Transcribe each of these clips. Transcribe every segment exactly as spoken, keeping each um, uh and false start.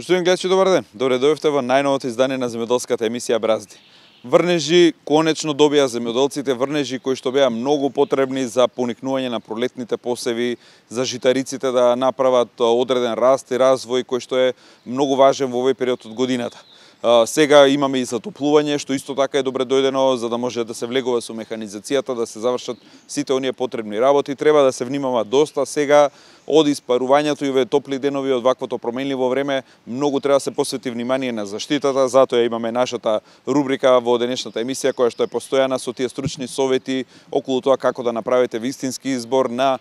Поштовани гледачи, добар ден. Добре дојдовте во најновото издание на земјоделската емисија Бразди. Врнежи конечно добија земјоделците, врнежи кои што беа многу потребни за поникнување на пролетните посеви, за житариците да направат одреден раст и развој кој што е многу важен во овој период од годината. Сега имаме и затоплување, што исто така е добре дојдено, за да може да се влегува со механизацијата, да се завршат сите оние потребни работи. Треба да се внимава доста сега од испарувањето и овие топли денови, од ваквото променливо време. Многу треба да се посвети внимание на заштитата, затоа имаме нашата рубрика во денешната емисија, која што е постојана со тие стручни совети околу тоа како да направите вистински избор на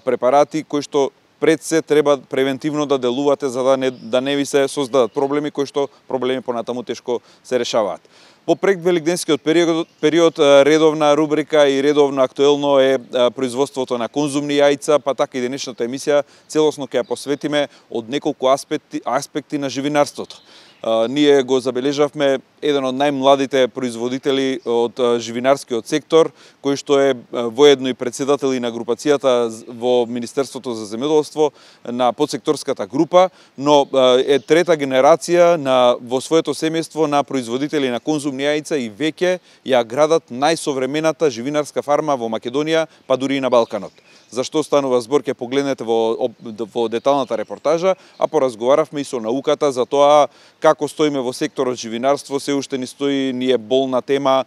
препарати кои што пред се треба превентивно да делувате за да не, да не ви се создадат проблеми кои што проблеми понатаму тешко се решаваат. Во предвеликденскиот период, период редовна рубрика и редовно актуелно е производството на конзумни јајца, па така и денешната емисија целосно ќе ја посветиме од неколку аспекти, аспекти на живинарството. Uh, ние го забележавме еден од најмладите производители од uh, живинарскиот сектор, кој што е uh, воедно и председател и на групацијата во Министерството за земјоделство на подсекторската група, но uh, е трета генерација на во своето семејство на производители на конзумни јајца и веќе ја градат најсовремената живинарска фарма во Македонија, па дури и на Балканот. За што станува збор ќе погледнете во, во деталната репортажа, а поразговаравме и со науката за тоа како стоиме во секторот живинарство. Се уште ни стои, ни е болна тема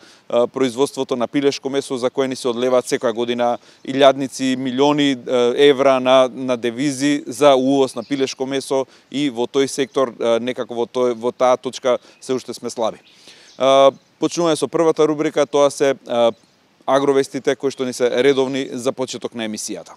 производството на пилешко месо, за кое ни се одлеваат секоја година илјадници, милиони евра на, на девизи за увоз на пилешко месо, и во тој сектор некако во, тој, во таа точка се уште сме слаби. Почнуваме со првата рубрика, тоа се агровестите кои што ни се редовни за почеток на емисијата.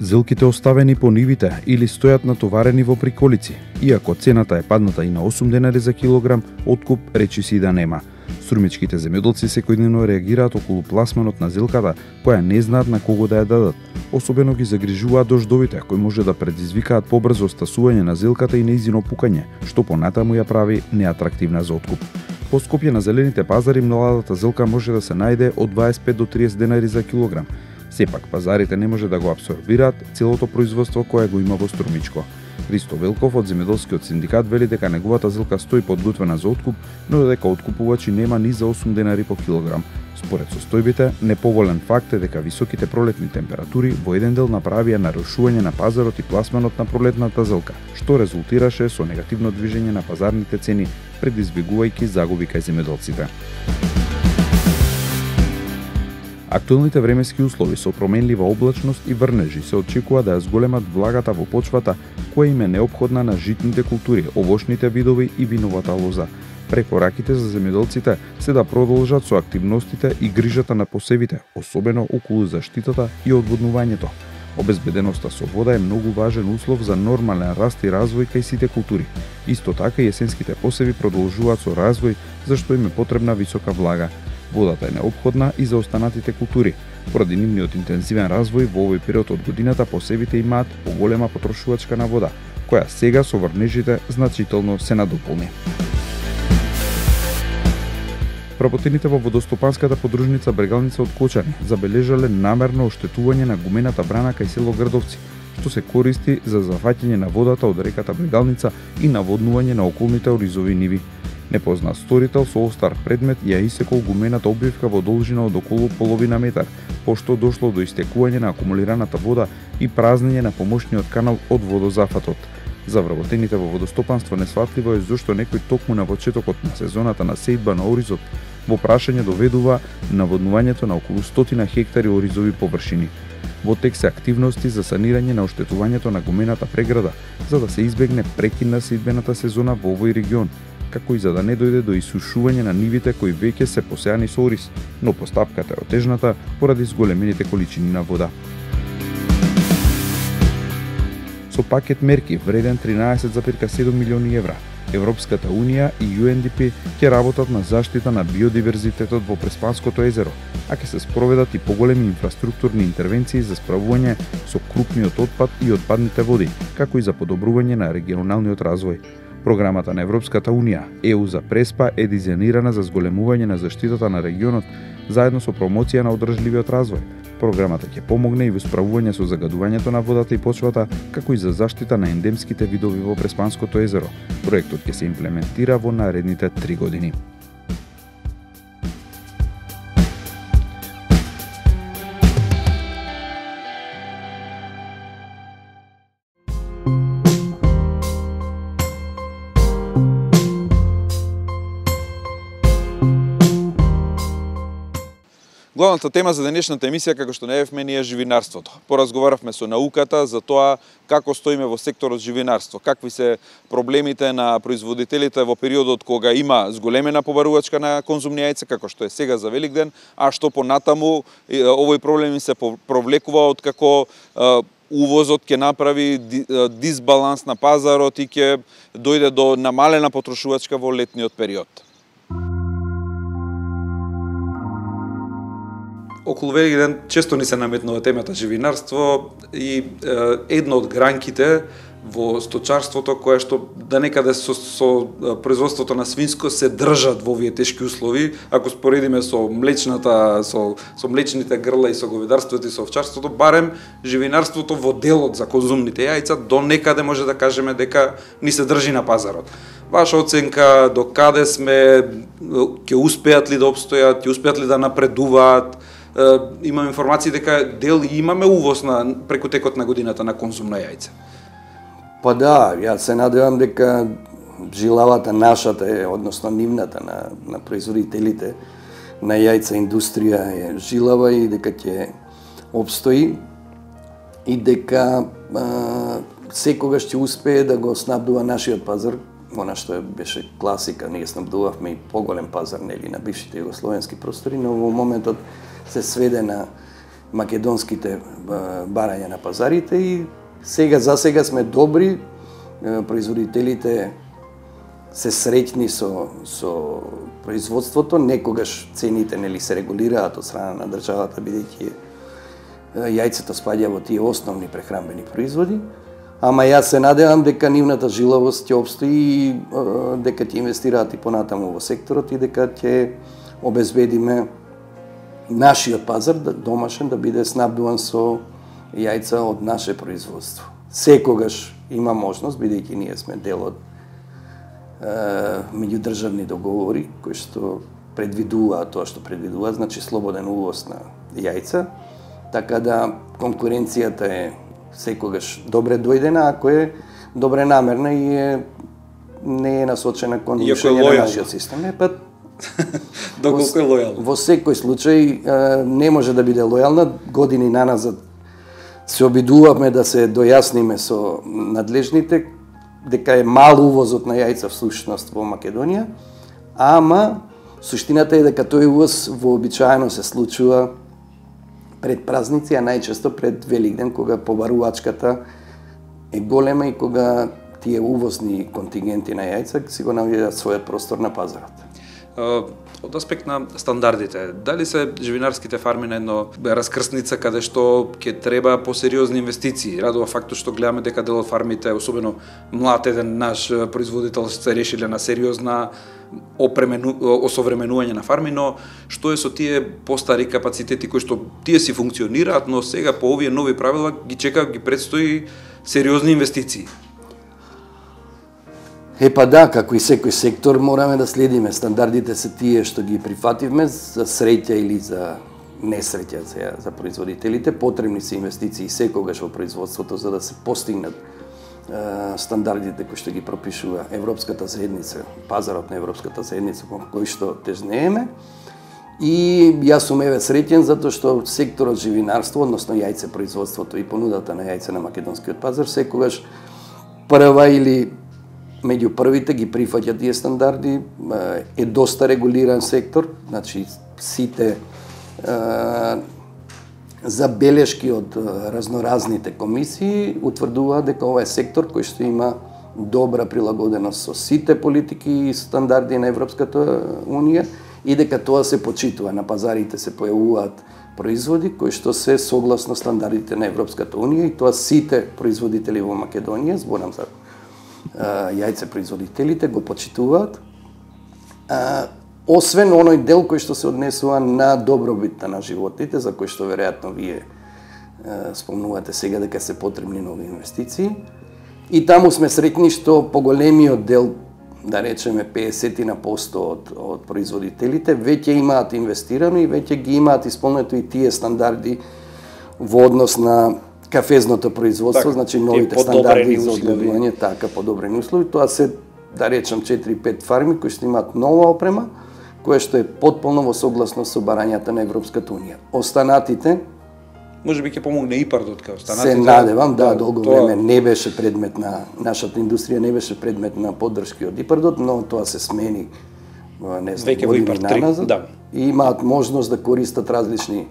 Зелките оставени по нивите или стојат натоварени во приколици. Иако цената е падната и на осум денари за килограм, откуп речиси да нема. Струмичките земјоделци секојдневно реагираат околу пласманот на зелката, која не знаат на кого да ја дадат. Особено ги загрижуваат дождовите, кои може да предизвикаат побрзо стасување на зелката и нејзино пукање, што понатаму ја прави неатрактивна за откуп. По Скопје на зелените пазари младата зелка може да се најде од дваесет и пет до триесет денари за килограм. Сепак пазарите не може да го апсорбираат целото производство кое го има во Струмичко. Христо Велков од земјоделскиот синдикат вели дека неговата зелка стои подготвена за откуп, но дека откупувачи нема ни за осум денари по килограм. Според состојбите, неповолен факт е дека високите пролетни температури во еден дел направија нарушување на пазарот и пласманот на пролетната зелка, што резултираше со негативно движење на пазарните цени, предизвикувајќи загуби кај земјоделците. Актуелните временски услови со променлива облачност и врнежи се очекува да ја зголемат влагата во почвата, која им е неопходна на житните култури, овошните видови и виновата лоза. Препораките за земјоделците се да продолжат со активностите и грижата на посевите, особено околу заштитата и одводнувањето. Обезбеденоста со вода е многу важен услов за нормален раст и развој кај сите култури. Исто така и есенските посеви продолжуваат со развој, зашто им е потребна висока влага. Водата е неопходна и за останатите култури. Поради нивниот интензивен развој во овој период од годината посевите имаат поголема потрошувачка на вода, која сега со врнежите значително се надополни. Вработените во водостопанската подружница Брегалница од Кочани забележале намерно оштетување на гумената брана кај село Градовци, што се користи за зафаќање на водата од реката Брегалница и наводнување на околните оризови ниви. Непознат сторител со остар предмет ја исекол гумената обвивка во должина од околу половина метар, пошто дошло до истекување на акумулираната вода и празнење на помошниот канал од водозафатот. За вработените во водостопанство несватливо е зошто некој токму на почетокот на сезоната на сејдба на оризот во прашање доведува наводнувањето на околу стотина хектари оризови површини. Во тек се активности за санирање на оштетувањето на гумената преграда, за да се избегне прекин на сејдбената сезона во овој регион, како и за да не дојде до исушување на нивите кои веќе се посеани со ориз, но постапката е отежната поради зголемените количини на вода. Со пакет мерки вреден тринаесет зарем седум милиони евра, Европската Унија и Ю Ен Ди Пи ќе работат на заштита на биодиверзитетот во Преспанското езеро, а ќе се спроведат и поголеми инфраструктурни интервенции за справување со крупниот отпад и отпадните води, како и за подобрување на регионалниот развој. Програмата на Европската Унија Е У за Преспа е дизајнирана за зголемување на заштитата на регионот заедно со промоција на одржливиот развој. Програмата ќе помогне и во справување со загадувањето на водата и почвата, како и за заштита на ендемските видови во Преспанското езеро. Проектот ќе се имплементира во наредните три години. Главната тема за денешната емисија, како што најавивме, ни е живинарството. Поразговаравме со науката за тоа како стоиме во секторот живинарство, какви се проблемите на производителите во периодот кога има зголемена побарувачка на конзумни јајца, како што е сега за Великден, а што понатаму овој проблем се провлекува од како увозот ќе направи дисбаланс на пазарот и ќе дојде до намалена потрошувачка во летниот период. Околу Великден често ни се наметнува темата живинарство и е, една од гранките во сточарството која што да некаде со, со производството на свинско се држат во овие тешки услови, ако споредиме со млечната, со, со млечните грла и со говедарството и со овчарството, барем живинарството во делот за конзумните јајца до некаде може да кажеме дека ни се држи на пазарот. Ваша оценка, до каде сме, ќе успеат ли да обстојат, ќе успеат ли да напредуваат? Имам информации дека дел имаме увоз на преку текот на годината на конзумна јајца. Па да, јас се надевам дека жилавата нашата е, односно нивната на, на производителите на јајца индустрија е жилава и дека ќе обстои и дека а, секогаш ќе успее да го снабдува нашиот пазар, она што беше класика, ние снабдувавме и поголем пазар нели на бившите југословенски простори, но во моментот се сведе на македонските барања на пазарите и сега за сега сме добри, производителите се среќни со со производството, некогаш цените нели се регулираат од страна на државата бидејќи јајцето спаѓа во тие основни прехранбени производи, ама јас се надевам дека нивната жилавост ќе обстои и дека ќе инвестираат и понатаму во секторот и дека ќе обезбедиме нашиот пазар домашен да биде снабдуван со јајца од наше производство. Секогаш има можност, бидејќи ние сме дел од меѓудржавни договори кои што предвидуваат тоа што предвидуваат, значи слободен увоз на јајца, така да конкуренцијата е секогаш добре дојдена, ако е добре намерна и е не е насочена кон рушење на нашиот систем. Е, па доколку е лојална. Во секој случај не може да биде лојална. Години наназад се обидувавме да се дојасниме со надлежните дека е мал увозот на јајца всушност во Македонија, ама суштината е дека тој увоз вообичаено се случува пред празници, а најчесто пред Великден, кога побарувачката е голема и кога тие увозни контингенти на јајца си го наоѓаат својот простор на пазарот. Од аспект на стандардите, дали се живинарските фарми на едно раскрсница каде што ќе треба посериозни инвестиции? Радува фактот што гледаме дека дел од фармите, особено млад еден наш производител, се решиле на сериозна опремену, осовременување на фарми, но што е со тие постари капацитети кои што тие си функционираат, но сега по овие нови правила ги чека, ги предстои сериозни инвестиции? Е па да, како и секој сектор мораме да следиме. Стандардите се тие што ги прифативме за среќа или за несреќа за, за производителите. Потребни се инвестиции секогаш во производството за да се постигнат е, стандардите кои што ги пропишува Европската заедница, пазарот на Европската заедница кон кој што тежнееме. И јас сум еве среќен затоа што секторот живинарство, односно јајце производството и понудата на јајце на македонскиот пазар секогаш прва или меѓу првите ги прифаќа тие стандарди, е доста регулиран сектор, значи сите е, забелешки од разноразните комисии утврдуваат дека ова е сектор кој што има добра прилагоденост со сите политики и стандарди на Европската Унија и дека тоа се почитува. На пазарите се појавуваат производи кои што се согласно стандардите на Европската Унија и тоа сите производители во Македонија, зборам за јајцепроизводителите го почитуваат. А, освен оној дел кој што се однесува на добробитта на животните, за кој што веројатно вие а, спомнувате сега дека се потребни нови инвестиции. И таму сме среќни што поголемиот дел, да речеме песет на посто од, од производителите, веќе имаат инвестирано и веќе ги имаат исполнето и тие стандарди во однос на кафезното производство, так, значи новите стандарди за одгледување, така, подобрени услови. Тоа се, да речам, четири-пет фарми кои што имаат нова опрема, која што е потполно во согласност со барањата на Европската унија. Останатите може би ќе помогне ИПАРДот као останатите. Се надевам, да, долго тоа... време не беше предмет на нашата индустрија, не беше предмет на поддршки од ИПАРДот, но тоа се смени, не знам, години наназад. Да. И имаат можност да користат различни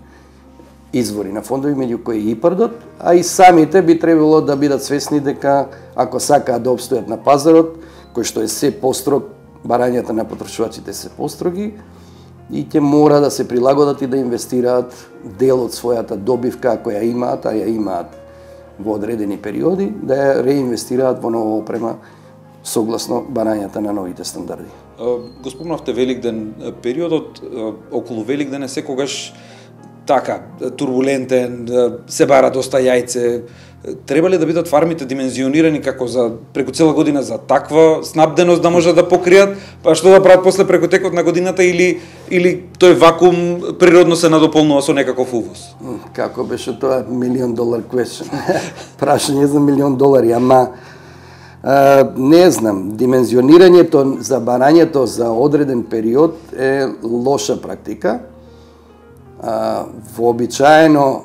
извори на фондови, меѓу кои и ИПАРДот, а и самите би требало да бидат свесни дека ако сакаат да обстојат на пазарот, кој што е се построг, барањата на потрошувачите се построги, и ќе мора да се прилагодат и да инвестираат дел од својата добивка, ако ја имаат, а ја имаат во одредени периоди, да ја реинвестираат во нова опрема согласно барањата на новите стандарди. Го спомнавте Великден, периодот околу Великден е секогаш така турбулентен, се бара доста јајце. Треба ли да бидат фармите димензионирани како за преку цела година за таква снабденост да можат да покријат, па што да прават после преку текот на годината, или или тој вакуум природно се надополнува со некаков увоз? Како беше тоа милион долар question? Прашање за милион долари, ама а, не знам, димензионирањето за барањето за одреден период е лоша практика. А, вообичаено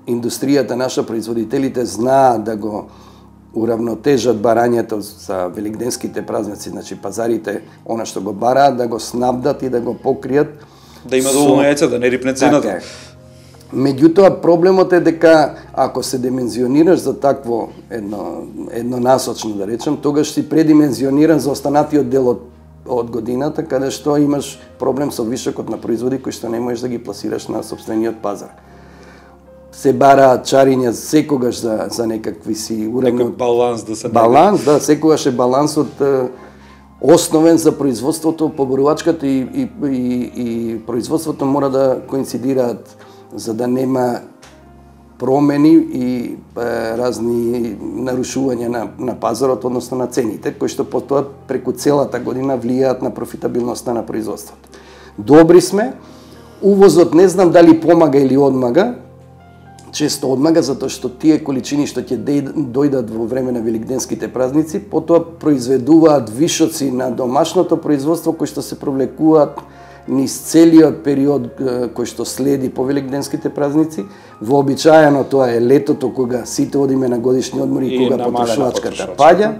индустријата, наша производителите знаат да го уравнотежат барањето за великденските празници, значи пазарите, она што го бараат, да го снабдат и да го покријат. Да има доволно јајца, да не рипне цената. Така. Меѓутоа, проблемот е дека ако се димензионираш за такво едно, еднонасочно, да речем, тогаш си предимензиониран за останатиот дел од од годината, каде што имаш проблем со вишокот на производи кои што не можеш да ги пласираш на собствениот пазар. Се бараат чариња секогаш за за некакви си уравно некој баланс да се баланс, да, секогаш е балансот е, основен за производството, поборувачката и, и, и, и производството мора да коинцидираат за да нема промени и е, разни нарушувања на, на пазарот, односно на цените, кои што потоа преку целата година влијаат на профитабилноста на производството. Добри сме, увозот не знам дали помага или одмага, често одмага, затоа што тие количини што ќе дојдат во време на великденските празници, потоа произведуваат вишоци на домашното производство кои што се провлекуваат низ целиот период кој што следи по великденските празници. Вообичаено тоа е летото кога сите одиме на годишни одмори и кога потрошувачката паѓа.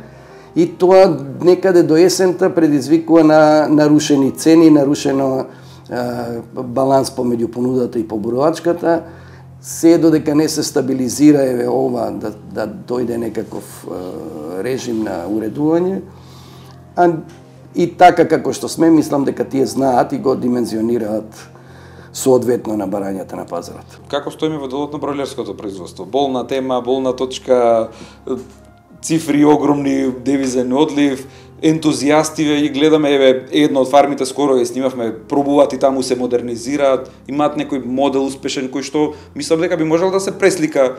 И тоа некаде до есента предизвикува на нарушени цени, нарушено е, баланс помеѓу понудата и поборувачката. Се додека не се стабилизира еве ова да, да дојде некаков е, режим на уредување. А и така како што сме, мислам дека тие знаат и го димензионираат соодветно на барањата на пазарот. Како стоиме во делот на бројлерското производство? Болна тема, болна точка, цифри огромни, девизен одлив, ентузијасти и гледаме, еве, едно од фармите скоро ја снимавме, пробуваат и таму се модернизираат, имаат некој модел успешен кој што мислам дека би можел да се преслика,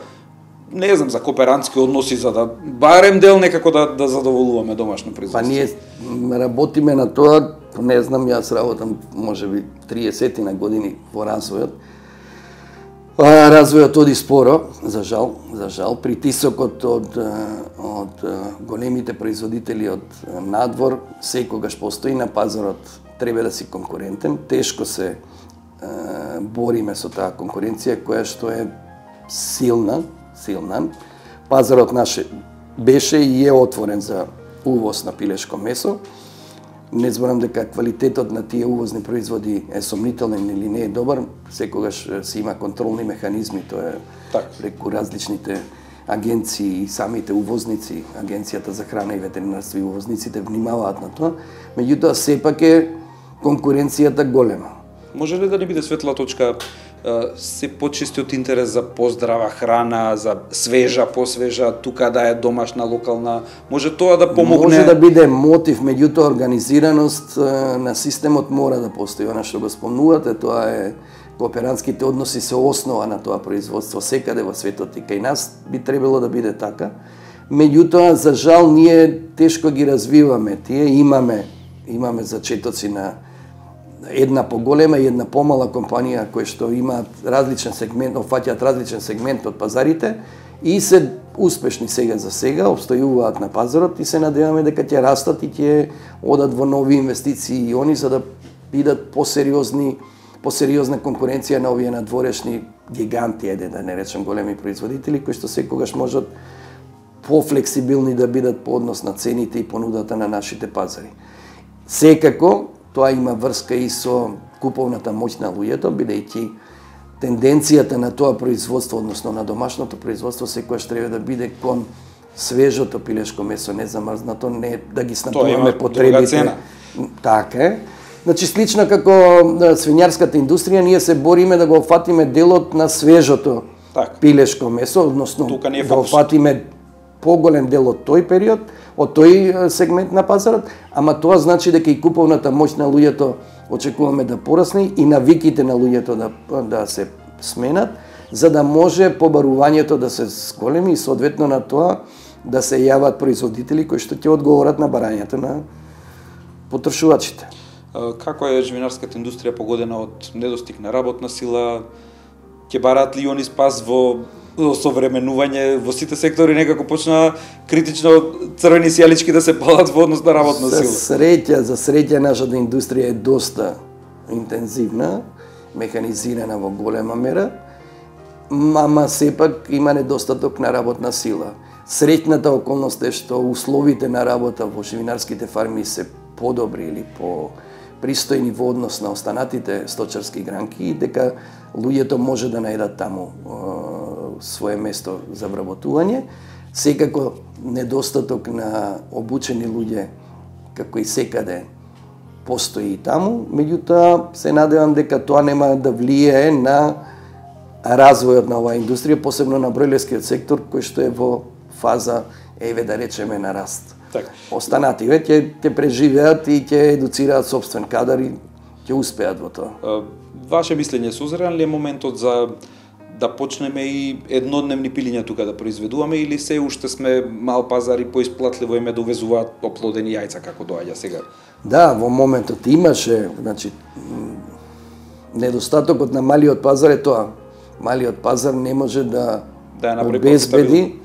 не знам, за кооперантски односи, за да барем дел некако да, да задоволуваме домашно производство. Па ние работиме на тоа, не знам, јас работам можеби триесет на години во развојот. Развојот оди споро, за жал, за жал. Притисокот од, од големите производители од надвор секогаш постои на пазарот, треба да си конкурентен. Тешко се е, бориме со таа конкуренција која што е силна, силна. Пазарот наш беше и е отворен за увоз на пилешко месо. Не зборам дека квалитетот на тие увозни производи е сомнителен или не е добар, секогаш се има контролни механизми, тоа е так. Преку различните агенции и самите увозници, Агенцијата за храна и ветеринарство и увозниците внимаваат на тоа, меѓутоа сепак е конкуренцијата голема. Може ли да не биде светла точка се почистиот интерес за поздрава храна, за свежа, посвежа, тука да е домашна, локална, може тоа да помогне? Може да биде мотив, меѓутоа организираност на системот мора да постои. Она што го спомнувате, тоа е кооперантските односи се основа на тоа производство секаде во светот и кај нас би требало да биде така. Меѓутоа, за жал, ние тешко ги развиваме. Тие имаме, имаме зачетоци на една поголема и една помала компанија кои што имаат различен сегмент, офаќаат различен сегмент од пазарите и се успешни сега за сега, обстојуваат на пазарот и се надеваме дека ќе растат и ќе одат во нови инвестиции и они за да бидат посериозни, посериозна конкуренција на овие надворешни гиганти, еде да не речем големи производители кои што секогаш можат пофлексибилни да бидат по однос на цените и понудата на нашите пазари. Секако тоа има врска и со куповната моќ на луѓето, бидејќи тенденцијата на тоа производство, односно на домашното производство, секогаш треба да биде кон свежото пилешко месо, не замрзнато, не да ги снабдуваме потребите. Така е. Значи, слично како свинјарската индустрија, ние се бориме да го офатиме делот на свежото так. пилешко месо, односно да офатиме поголем дел од тој период, од тој сегмент на пазарот, ама тоа значи дека и куповната моќ на луѓето очекуваме да порасне и навиките на луѓето да, да се сменат, за да може побарувањето да се зголеми и соодветно на тоа да се јават производители кои што ќе одговорат на барањето на потрошувачите. Како е живинарската индустрија погодена од недостиг на работна сила? Ќе бараат ли они спас во осовременување во сите сектори, некако почна критично црвени сијалички да се палат во однос на работна сила? За среќа, за среќа нашата индустрија е доста интензивна, механизирана во голема мера, ама сепак има недостаток на работна сила. Среќната околност е што условите на работа во живинарските фарми се подобри или по пристојни во однос на останатите сточарски гранки и дека луѓето може да најдат таму е, свое место за вработување. Секако недостаток на обучени луѓе, како и секаде, постои и таму, меѓутоа се надевам дека тоа нема да влијае на развојот на оваа индустрија, посебно на бројлерскиот сектор, кој што е во фаза, еве да речеме, на раст. Така. Останативе ќе ќе преживеат и ќе едуцираат собствен кадар и ќе успеат во тоа. Ваше мислење, созран ли е моментот за да почнеме и еднодневни пилиња тука да произведуваме или се уште сме мал пазар и поисплатливо име да увезуваат оплодени јајца како доаѓа сега? Да, во моментот имаше, значи недостатокот на малиот пазар е тоа. Малиот пазар не може да, да обезбеди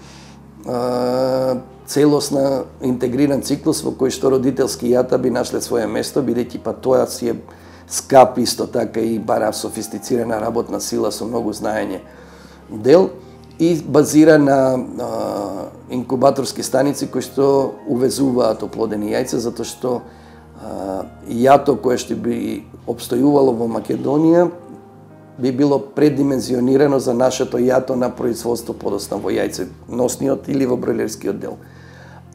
а, целосна интегриран циклус во кој што родителски јата би нашле свое место, бидејќи па тоа си е скап исто така и бара софистицирана работна сила со многу знаење дел и базира на а, инкубаторски станици кои што увезуваат оплодени јајца, затоа што а, јато кое што би обстојувало во Македонија би било предимензионирано за нашето јато на производство подосна во јајце, носниот или во бројлерскиот дел.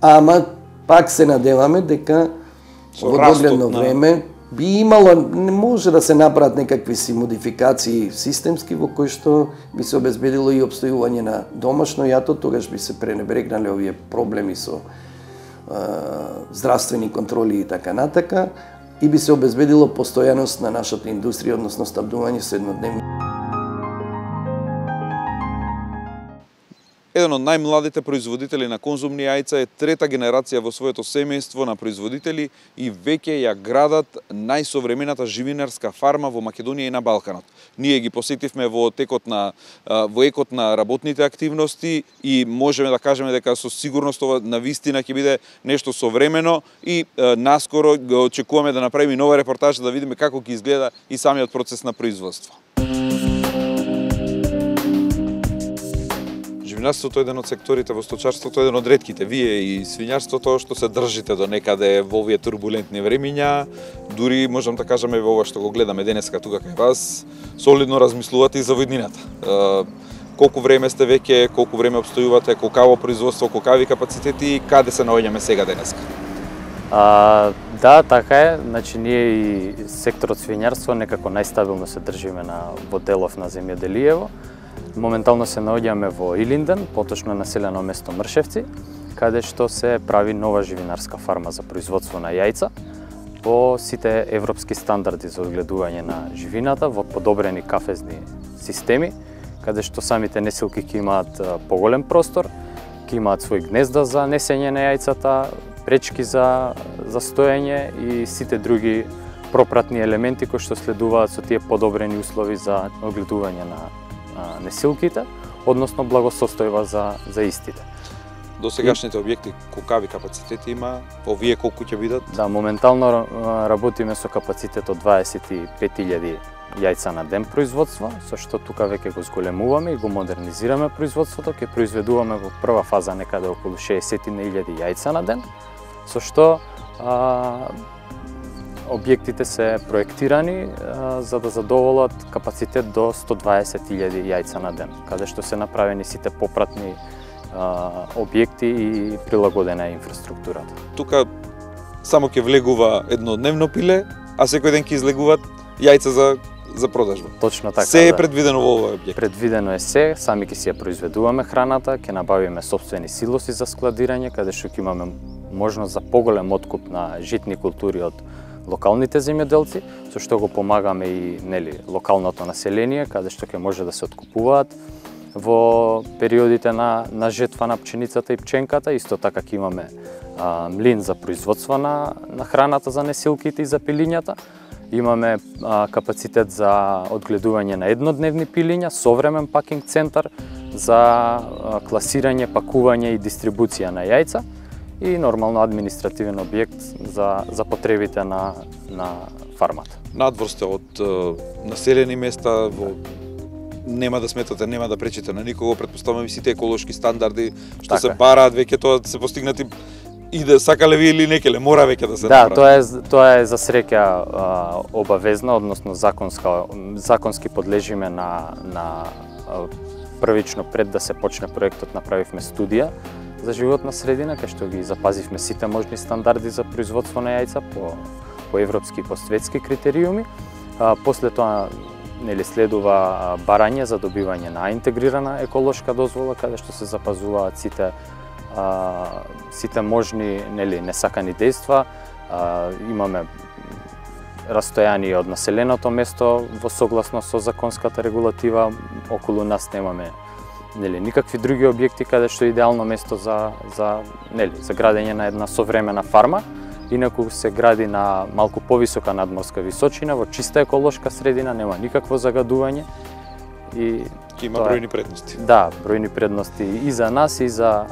Ама пак се надеваме дека во догледно време би имало, не може да се направат некакви си модификации системски во кои што би се обезбедило и обстојување на домашно јато, тогаш би се пренебрегнале овие проблеми со е, здравствени контроли и така натака, и би се обезбедило постојаност на нашата индустрија, односно снабдување со еднодневни. Еден од најмладите производители на конзумни јајца е трета генерација во своето семејство на производители и веќе ја градат најсовремената живинарска фарма во Македонија и на Балканот. Ние ги посетивме во текот на во екот на работните активности и можеме да кажеме дека со сигурност ова навистина ќе биде нешто современо и е, наскоро го очекуваме да направиме нова репортажа да видиме како ќе изгледа и самиот процес на производство. Живинарството е еден од секторите во сточарството, еден од ретките. Вие и свињарството што се држите до некаде во овие турбулентни времиња, дури можам да кажеме во ова што го гледаме денеска тука кај вас, солидно размислувате и за воднината. Колку време сте веќе, колку време обстојувате, колкаво производство, колкави капацитети и каде се наоѓаме сега денеска? А, да, така е. Значи ние и секторот свињарство некако најстабилно се држиме на во делов на земјоделиево. Моментално се наоѓаме во Илинден, поточно населено место Мршевци, каде што се прави нова живинарска фарма за производство на јајца по сите европски стандарди за одгледување на живината во подобрени кафезни системи, каде што самите несилки ќе имаат поголем простор, ќе имаат свои гнезда за несење на јајцата, пречки за, за стоење и сите други пропратни елементи кои што следуваат со тие подобрени услови за одгледување на а, несилките, односно благосостојба за, за истите. До сегашните објекти колкави капацитети има? Овие колку ќе бидат? Да, моментално работиме со капацитет од дваесет и пет илјади јајца на ден производство, со што тука веќе го зголемуваме и го модернизираме производството, ќе произведуваме во прва фаза некаде околу шеесет илјади јајца на ден, со што а, објектите се проектирани а, за да задоволат капацитет до сто дваесет илјади јајца на ден, каде што се направени сите попратни а, објекти и прилагодена инфраструктурата. Тука само ќе влегува еднодневно пиле, а секој ден ќе излегуваат јајца за за продажба. Точно така. Се е да. предвидено во овој објект. Предвидено е се, сами ќе си ја произведуваме храната, ќе набавиме сопствени силоси за складирање, каде што ќе имаме можност за поголем откуп на житни култури од локалните земјоделци, со што го помагаме и нели локалното население, каде што ќе може да се откупуваат во периодите на на жетва на пченицата и пченката. Исто така ќе имаме а, млин за производство на на храната за несилките и за пилињата. Имаме а, капацитет за одгледување на еднодневни пилиња, современ пакинг центар за а, класирање, пакување и дистрибуција на јајца и нормално административен објект за за потребите на на фармата. Надвор сте од е, населени места, во нема да сметате, нема да пречите на никого, претпоставувам и сите еколошки стандарди што така се бараат веќе тоа се постигнати и да сакале ви или некеле, мора веќе да се да, направи. тоа е тоа е за среќа а, обавезно, односно законска законски подлежиме на на а, првично пред да се почне проектот направивме студија за животна средина, кај што ги запазивме сите можни стандарди за производство на јајца по по европски и по светски критериуми. А, после тоа нели следува барање за добивање на интегрирана еколошка дозвола, каде што се запазуваат сите а, сите можни нели несакани дејства. А, имаме растојание од населеното место во согласно со законската регулатива. Околу нас немаме нели никакви други објекти каде што е идеално место за за нели за градење на една современа фарма. Инаку се гради на малку повисока надморска височина, во чиста еколошка средина, нема никакво загадување и Ќе има тоа... бројни предности. Да, бројни предности и за нас и за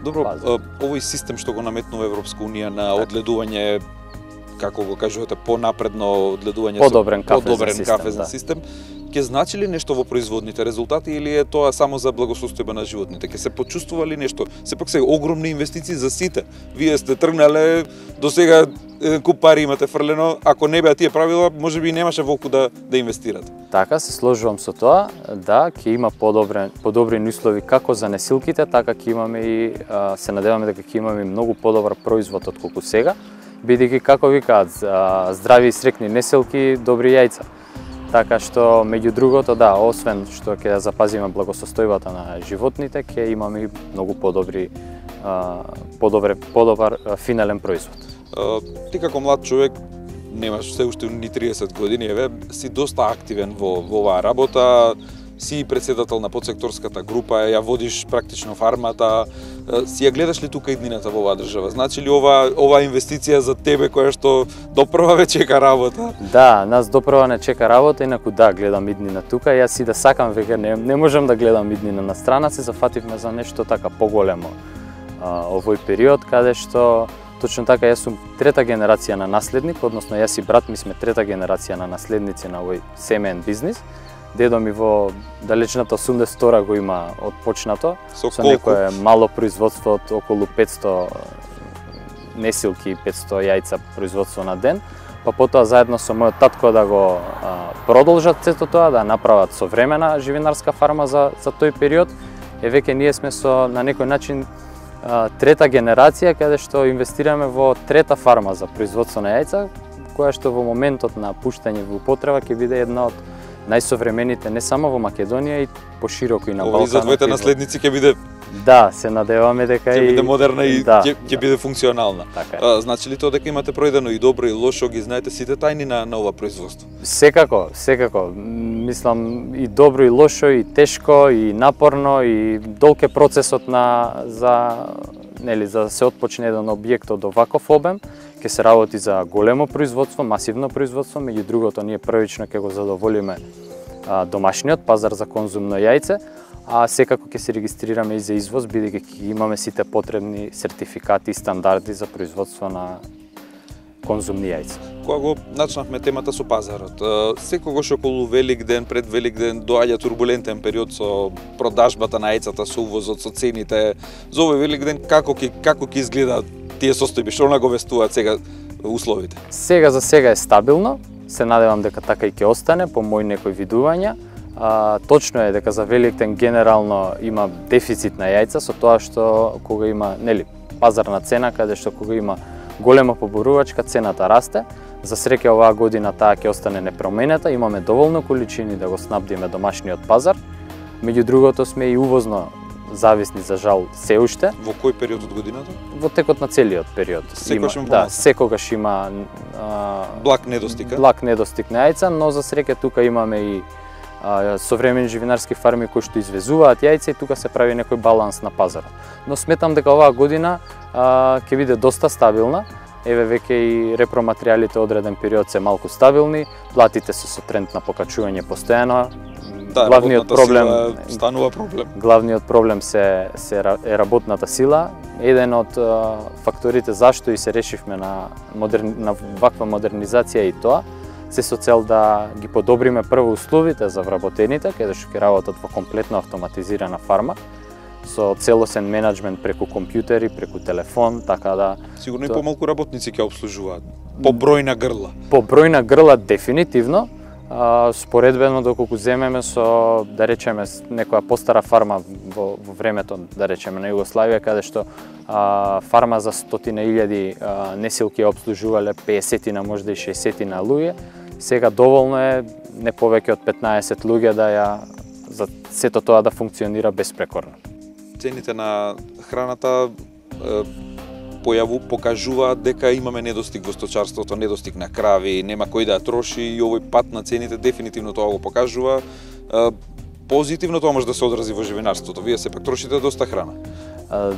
Добро, база. овој систем што го наметнува Европска унија на одгледување, како го кажувате, понапредно одгледување Подобрен со кафезен подобрен систем, кафезен да. систем, ќе значи ли нешто во производните резултати или е тоа само за благосостојба на животните? Ќе се почувствува ли нешто? Сепак се огромни инвестиции за сите. Вие сте тргнале, до сега еден куп пари имате фрлено, ако не беа тие правила, можеби и немаше волку да да инвестирате. Така, се сложувам со тоа, да, ќе има подобрен, подобрени услови како за несилките, така ќе имаме и, а, се надеваме дека ќе имаме многу подобар производ од колку сега, бидејќи како викаат, здрави и срекни несилки, добри јајца. Така што, меѓу другото, да, освен што ќе запазиме благосостојбата на животните, ќе имаме и многу подобри, а, подобре, подобар а, финален производ. А, ти како млад човек, немаш се уште ни триесет години, еве, си доста активен во, во оваа работа, си председател на подсекторската група, ја водиш практично фармата, си ја гледаш ли тука иднината во оваа држава? Значи ли ова ова инвестиција за тебе која што допрва ве чека работа? Да, нас допрва не чека работа, инаку да, гледам иднина тука, јас и да сакам веќе не, не можам да гледам иднина на страна, се зафативме за нешто така поголемо а, овој период, каде што точно така јас сум трета генерација на наследник, односно јас и брат ми сме трета генерација на наследници на овој семеен бизнис. Дедо ми во далечната осумдесет и втора го има отпочнато, Со, со колку? некое мало производство од околу петсто несилки и петсто јајца производство на ден, па потоа заедно со мојот татко да го а, продолжат сето тоа, да направат современа живинарска фарма за, за тој период. Е веќе ние сме со на некој начин трета генерација каде што инвестираме во трета фарма за производство на јајца, која што во моментот на пуштање во употреба ќе биде една од најсовремените не само во Македонија и пошироко и на Балканот. Ови за твоите наследници ќе биде Да, се надеваме дека ќе биде модерна и да, ќе ќе да. биде функционална. Така е. А, значи ли тоа дека имате пројдено и добро и лошо, ги знаете сите тајни на на ова производство? Секако, секако. Мислам и добро и лошо и тешко и напорно и долг е процесот на за нели за да се отпочне еден објект од оваков обем, ќе се работи за големо производство, масивно производство, меѓу другото ние првично ќе го задоволиме а, домашниот пазар за конзумно јајце, а секако ќе се регистрираме и за извоз, бидејќи ќе имаме сите потребни сертификати и стандарди за производство на конзумни јајца. Кога го начнавме темата со пазарот, секогаш околу Великден, пред Великден доаѓа турбулентен период со продажбата на јајцата, со увозот, со цените. За овој Великден како ќе како ќе изгледаат тие состојби, што наговестуваат сега условите? Сега за сега е стабилно, се надевам дека така и ќе остане по мои некои видувања. А, точно е дека за Великден генерално има дефицит на јајца со тоа што кога има, нели, пазарна цена каде што кога има голема поборувачка цената расте. За среќа оваа година таа ќе остане непроменита, имаме доволно количини да го снабдиме домашниот пазар. Меѓу другото сме и увозно зависни за жал се уште. Во кој период од годината? Во текот на целиот период. Секогаш има, има да, секогаш има а, благ недостиг, благ недостиг на јајца, но за среќа тука имаме и а, современи живинарски фарми кои што извезуваат јајца и тука се прави некој баланс на пазарот. Но сметам дека оваа година а, ќе биде доста стабилна. Еве веќе и репроматеријалите одреден период се малку стабилни, платите се со тренд на покачување постојано. Да, главниот проблем станува проблем. Главниот проблем се се е работната сила. Еден од а, факторите зашто и се решивме на модерни, на ваква модернизација и тоа се со цел да ги подобриме прво условите за вработените, каде што ќе работат во комплетно автоматизирана фарма со целосен менеджмент преку компјутери, преку телефон, така да Сигурно и помалку работници ќе обслужуваат. По број на грла. По број на грла дефинитивно. А, споредбено доколку земеме со, да речеме, некоја постара фарма во, во времето, да речеме, на Југославија, каде што а, фарма за стотина илјади несилки обслужувале пеесетина, можда и шеесетина луѓе, сега доволно е не повеќе од петнаесет луѓе да ја за сето тоа да функционира безпрекорно. Цените на храната е, појаву покажуваат дека имаме недостиг во сточарството, недостиг на крави, нема кој да ја троши и овој пат на цените дефинитивно тоа го покажува. Е, позитивно тоа може да се одрази во живинарството. Вие сепак трошите доста храна. Е,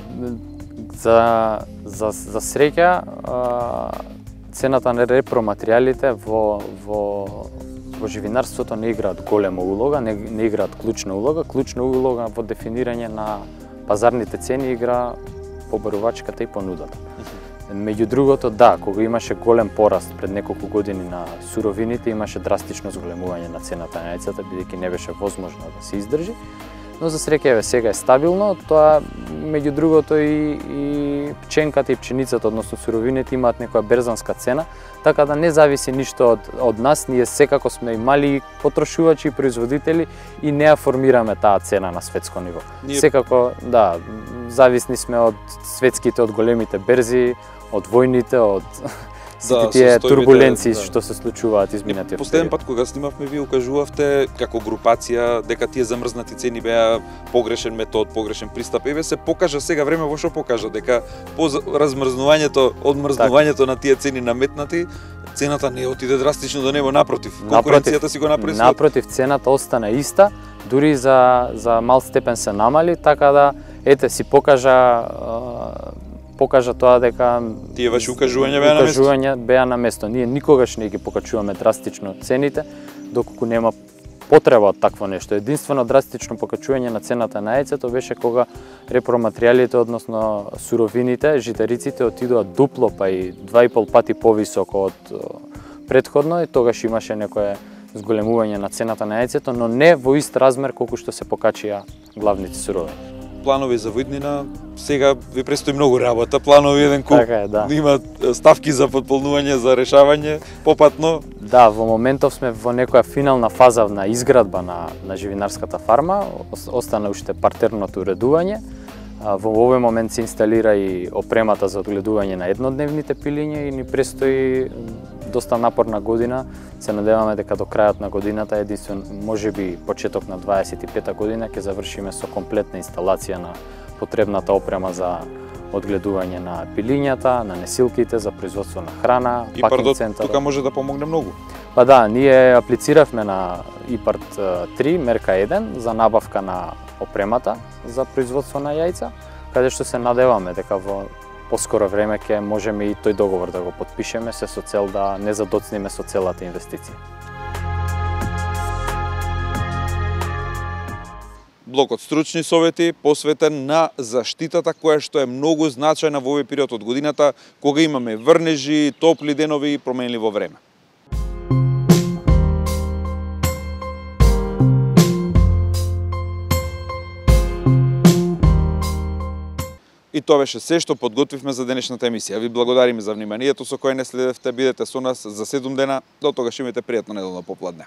за за за среќа цената на репроматеријалите во во во живинарството не играат голема улога, не, не играат клучна улога. Клучна улога во дефинирање на пазарните цени игра побарувачката и понудата. Меѓу другото, да, кога имаше голем пораст пред неколку години на суровините, имаше драстично зголемување на цената на јајцата, бидејќи не беше возможно да се издржи. Но за среќа еве сега е стабилно, тоа меѓу другото и, и пченката и пченицата, односно суровините имаат некоја берзанска цена, така да не зависи ништо од, од нас, ние секако сме и мали потрошувачи и производители и не ја формираме таа цена на светско ниво. Ние... Секако, да, зависни сме од светските, од големите берзи, од војните, од сите да, тие турбуленции да. Што се случуваат изминатиот период. Последен пат кога снимавме, вие укажувавте како групација дека тие замрзнати цени беа погрешен метод, погрешен пристап. Еве се покажа сега време во што покажа дека по размрзнувањето, одмрзнувањето на тие цени наметнати, цената не отиде драстично до небо, напротив. Конкуренцијата си го направи. Напротив, цената остана иста, дури за за мал степен се намали, така да ете си покажа покажа тоа дека тие ваши укажувања беа на место. Укажувања беа на место. Ние никогаш не ги покачуваме драстично цените доколку нема потреба од такво нешто. Единствено драстично покачување на цената на јајцето беше кога репроматеријалите, односно суровините, житариците отидоа дупло па и два и пол пати повисоко од претходно и тогаш имаше некое зголемување на цената на јајцето, но не во ист размер колку што се покачија главните суровини. Планови за виднина, сега ви престои многу работа, планови еден куп, така е, да. Има ставки за подполнување, за решавање, попатно. Да, во моментов сме во некоја финална фаза на изградба на, на живинарската фарма, остана уште партерното уредување. Во овој момент се инсталира и опремата за одгледување на еднодневните пилиња и ни престои доста напорна година. Се надеваме дека до крајот на годината, единствено можеби почеток на дваесет и пета година, ќе завршиме со комплетна инсталација на потребната опрема за одгледување на пилињата, на несилките за производство на храна, И пакинг центар. тука може да помогне многу. Па да, ние аплициравме на ИПАРТ три, мерка еден, за набавка на опремата за производство на јајца, каде што се надеваме дека во поскоро време ќе можеме и тој договор да го потпишеме, се со цел да не задоцниме со целата инвестиција. Блокот стручни совети посветен на заштитата која што е многу значајна во овој период од годината, кога имаме врнежи, топли денови и променливо време. И тоа беше се што подготвивме за денешната емисија. Ви благодариме за вниманието со кое не следевте. Бидете со нас за седум дена. До тогаш имате пријатно неделно попладне.